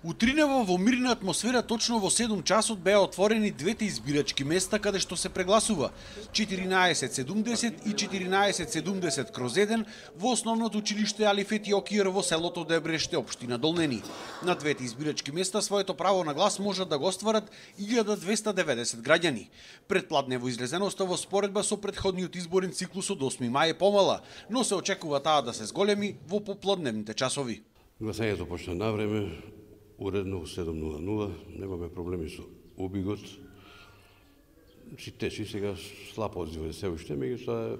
Утринево во мирна атмосфера точно во 7 часот беа отворени двете избирачки места каде што се прегласува 1470 и 1470/1 во основното училиште Алиф Етиокир во селото Дебреште, општина Долнени. На двете избирачки места своето право на глас можат да го остварат 1290 граѓани. Претпладнево излезеноста во споредба со претходниот изборен циклус од 8 мај е помала, но се очекува таа да се зголеми во поплодневните часови. Гласањето почна на време, уредно во 7:00, немаме проблеми со убигот. Си течи сега слабо одзива се уште, меѓутоа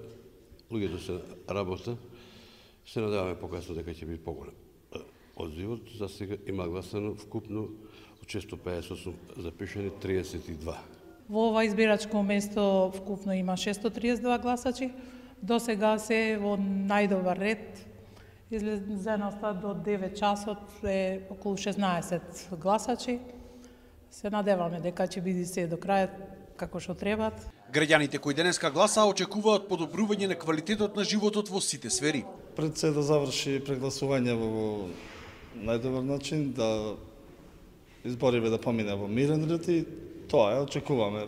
луѓето се работа. Се надеваме покасно дека ќе биде поголем одзивот. За сега има гласано вкупно од 658 запишани 32. Во ова избирачко место вкупно има 632 гласачи. До сега се во најдобар ред. Излезеноста до 9 часот е околу 16 гласачи. Се надеваме дека ќе биде се до крај како што требат. Граѓаните кои денеска гласаа очекуваат подобрување на квалитетот на животот во сите сфери. Пред се да заврши прегласување во најдобар начин, да избориве да помине во мирен ред и тоа е, очекуваме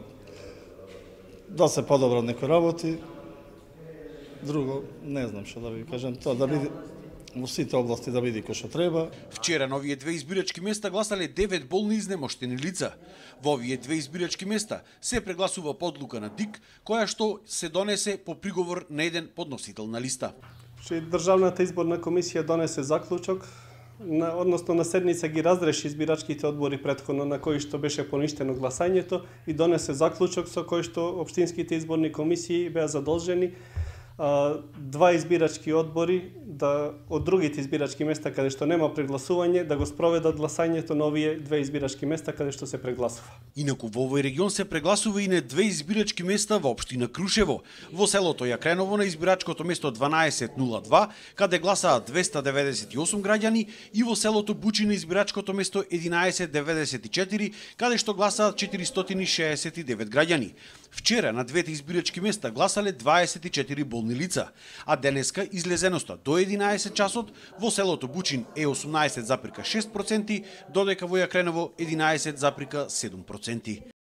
да се подобрат некои работи. Друго, не знам што да ви кажам, тоа да биде во сите области да биде кој што треба. Вчера на овие две избирачки места гласале 9 болни изнемоштени лица. Во овие две избирачки места се прегласува по одлука на ДИК, која што се донесе по приговор на еден подносител на листа. Државната изборна комисија донесе заклучок, односно на седница ги разреши избирачките одбори претходно на кои што беше поништено гласањето и донесе заклучок со кој што општинските изборни комисии беа задолжени два избирачки одбори од другите избирачки места каде што нема прегласување да го спроведат гласањето на овие две избирачки места каде што се прегласува. Инаку во овој регион се прегласува и на две избирачки места во општина Крушево. Во селото Јакреново на избирачкото место 1202 каде гласаа 298 граѓани и во селото Бучи на избирачкото место 1194 каде што гласаат 469 граѓани. Вчера на двете избирачки места гласале 24 болни лица, а денеска излезеноста до 11 часот во селото Бучин е 18,6%, додека во Јакреново 11,7%.